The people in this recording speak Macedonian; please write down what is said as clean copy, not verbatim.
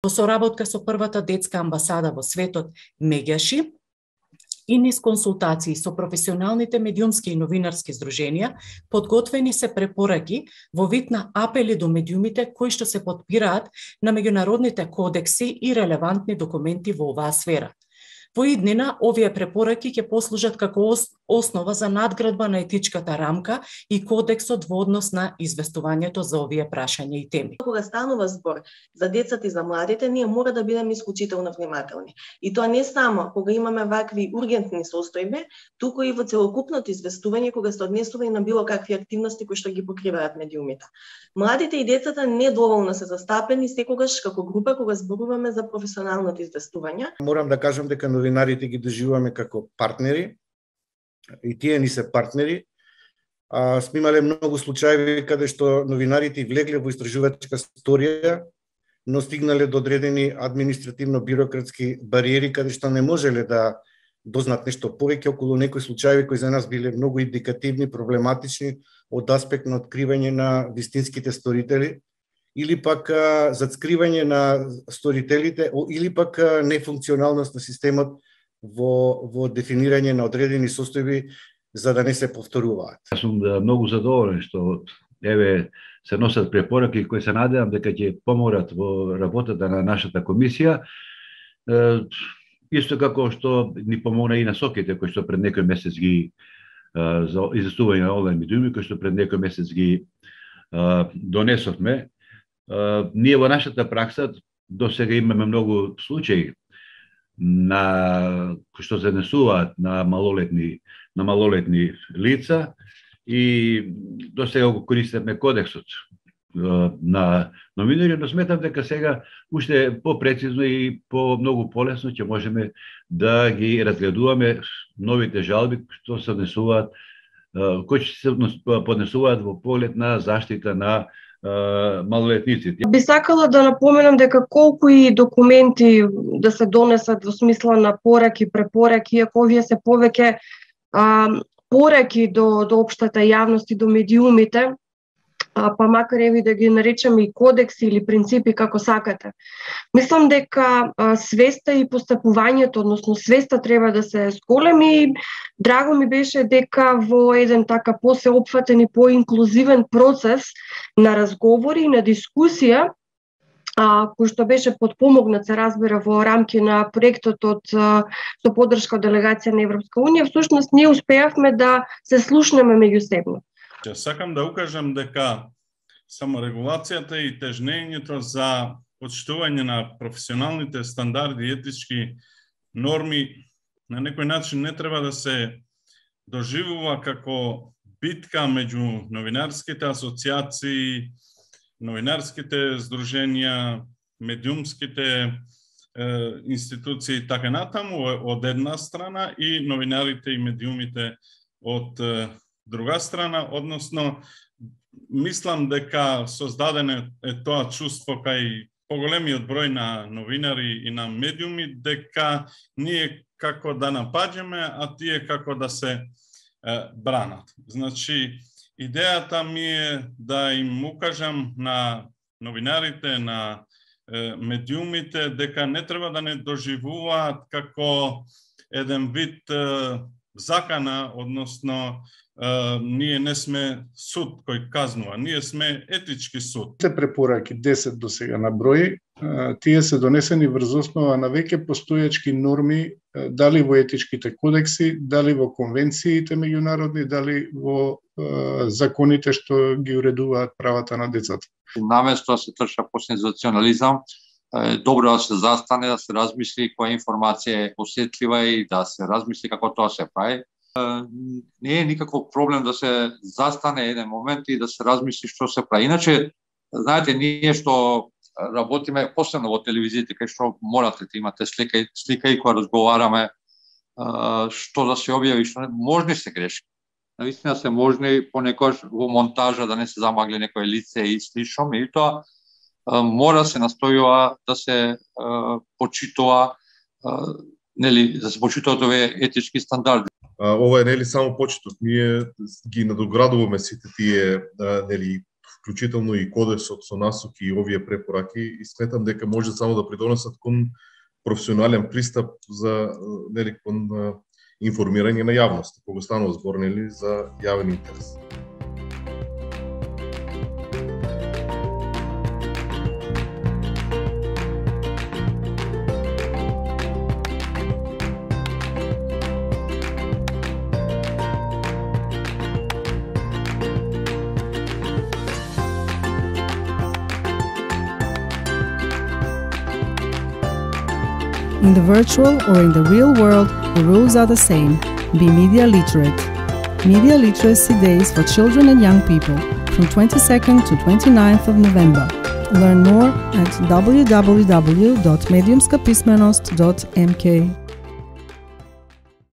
Во соработка со првата детска амбасада во светот Меѓаши и низ консултации со професионалните медиумски и новинарски здруженија, подготвени се препораки во вид на апели до медиумите кои што се потпираат на меѓународните кодекси и релевантни документи во оваа сфера. Во иднина, овие препораки ќе послужат како основа за надградба на етичката рамка и кодексот во однос на известувањето за овие прашања и теми. Кога станува збор за децата и за младите, ние мора да бидеме исклучително внимателни. И тоа не само кога имаме вакви ургентни состојби, туку и во целокупното известување кога се однесува и на било какви активности кои што ги покриваат медиумите. Младите и децата недоволно се застапени секогаш како група кога зборуваме за професионалното известување. Морам да кажам дека новинарите ги доживуваме како партнери и тие ни се партнери. Сме имале многу случаи каде што новинарите влегле во истражувачка сторија, но стигнале до одредени административно-бирократски бариери каде што не можеле да дознат нешто повеќе околу некои случаи кои за нас биле многу индикативни, проблематични од аспект на откривање на вистинските сторители или пак зацкривање на сторителите или пак нефункционалност на системот во дефинирање на одредени состојби за да не се повторуваат. Јас сум многу задоволен што се носат препораки кои се надевам дека ќе помогнат во работата на нашата комисија. Исто како што ни помогна и насоките кои што пред некој месец ги за известување на онлайн медиуми кои што пред некој месец ги донесовме. Ние во нашата пракса досега имаме многу случаи на кои што се однесуваат на малолетни лица и досега го користиме кодексот на новинари, но сметам дека сега уште попрецизно и многу полесно ќе можеме да ги разгледуваме новите жалби што се однесуваат, кои ќе се поднесуваат во поглед на заштита на малолетниците. Би сакала да напоменам дека колку и документи да се донесат во смисла на пораки, препораки, иако овие се повеќе пораки до општата јавност и до медиумите, па макар еви да ги наречеме и кодекси или принципи како сакате. Мислам дека свеста и постапувањето, односно свеста треба да се зголеми и драго ми беше дека во еден така посеопфатен и поинклузивен процес на разговори и на дискусија, кој што беше подпомогнат, се разбира, во рамки на проектот со поддршка од делегација на Европска унија, всушност ние успеавме да се слушнеме меѓусебно. Сакам да укажам дека саморегулацијата и тежнењето за почитување на професионалните стандарди и етички норми на некој начин не треба да се доживува како битка меѓу новинарските асоциации, новинарските здруженија, медиумските институции и така натаму од една страна и новинарите и медиумите од друга страна, односно мислам дека создадено е тоа чувство кај поголемиот број на новинари и на медиуми дека ние како да напаѓаме, а тие како да се бранат. Значи, идејата ми е да им укажам на новинарите, на медиумите дека не треба да не доживуваат како еден вид закана, односно ние не сме суд кој казнува, ние сме етички суд. Те препораки 10 до сега на број, тие се донесени врз основа на веќе постојачки норми, дали во етичките кодекси, дали во конвенциите меѓународни, дали во законите што ги уредуваат правата на децата. Наместо да се трча по сензационализам, добро да се застане, да се размисли која информација е осетлива и да се размисли како тоа се прави. Не е никаков проблем да се застане еден момент и да се размисли што се прави. Иначе, знаете, ние што работиме, посебно во телевизиите, кај што морате да имате слика и кога разговараме, што да се објави, што не, можни се грешки. Наистина се можни понекогаш во монтажа да не се замагли некое лице и слично, меѓутоа мора се настојува да се почитува, нели, да се почитуваат овие етички стандарди. Ова е нели само почеток. Ние ги надоградуваме сите тие нели вклучително и кодексот со насоки и овие препораки, и сметам дека може само да придонесат кон професионален пристап за кон информирање на јавност, кога станува збор за јавен интерес. In the virtual or in the real world, the rules are the same. Be media literate. Media Literacy Days for Children and Young People from 22nd to 29th of November. Learn more at www.mediumskapismenost.mk.